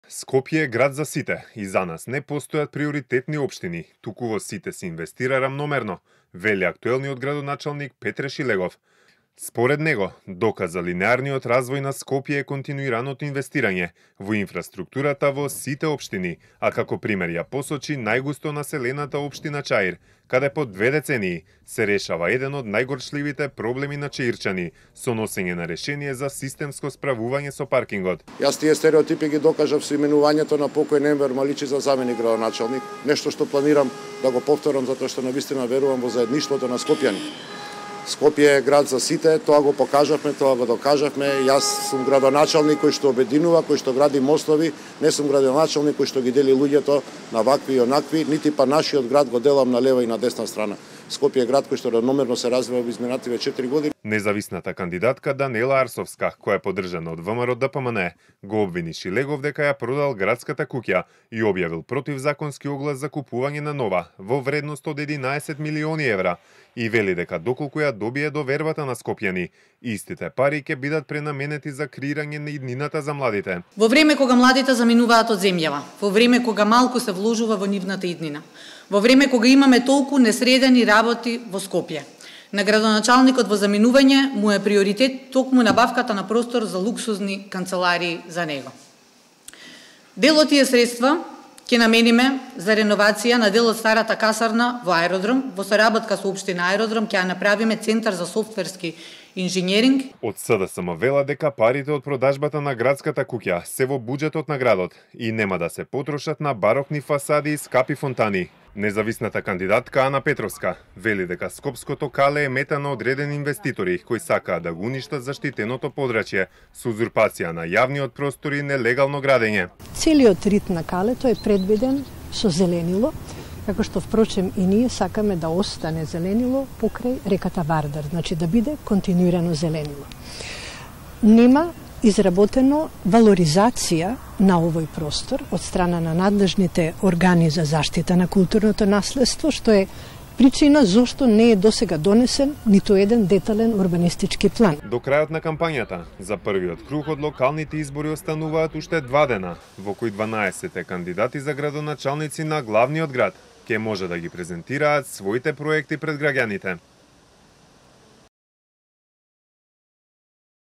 Скопје е град за сите и за нас не постојат приоритетни општини, туку во сите се инвестира рамномерно, вели актуелниот градоначалник Петре Шилегов. Според него, доказ за линеарниот развој на Скопје е континуираното инвестирање во инфраструктурата во сите општини, а како пример ја посочи најгусто населената општина Чаир, каде по 2 децении се решава еден од најгорчливите проблеми на чаирчани со носење на решение за системско справување со паркингот. Јас тие стереотипи ги докажав со именувањето на покој Енвер Маличи за заменик градоначалник, нешто што планирам да го повторам затоа што навистина верувам во заедништвото на скопјани. Скопје е град за сите, тоа го покажавме, тоа го докажавме. Јас сум градоначалник кој што обединува, кој што гради мостови, не сум градоначалник кој што ги дели луѓето на вакви и онакви, нити па нашиот град го делам на лева и на десна страна. Скопје е град кој што равномерно се развива во изминативе 4 години. Независната кандидатка Данела Арсовска, која е поддржана од ВМРО-ДПМН, го обвини Шилегов дека ја продал градската куќа и објавил противзаконски оглас за купување на нова во вредност од 11 милиони евра и вели дека доколку ја добие довербата на скопјани, истите пари ќе бидат пренаменети за креирање на иднината за младите. Во време кога младите заминуваат од земјава, во време кога малку се вложува во нивната иднина, во време кога имаме толку несредени работи во Скопје, на градоначалникот во заминување му е приоритет токму набавката на простор за луксузни канцеларии за него. Дел од тие средства ќе намениме за реновација на дел од старата касарна во аеродром, во соработка со општина Аеродром ќе ја направиме центар за софтверски инженеринг. Од СДСМ вела дека парите од продажбата на градската куќа се во буџетот на градот и нема да се потрошат на барокни фасади и скапи фонтани. Независната кандидатка Ана Петровска вели дека Скопското кале е мета на одредени инвеститори кои сакаат да го уништат заштитеното подрачје со узурпација на јавниот простор и нелегално градење. Целиот рит на калето е предвиден со зеленило, како што впрочем и ние сакаме да остане зеленило покрај реката Вардар, значи да биде континуирано зеленило. Нема изработено валоризација на овој простор од страна на надлежните органи за заштита на културното наследство, што е причина зошто не е досега донесен ниту еден детален урбанистички план. До крајот на кампањата, за првиот круг од локалните избори остануваат уште 2 дена, во кои 12 кандидати за градоначалници на главниот град ќе може да ги презентираат своите проекти пред граѓаните.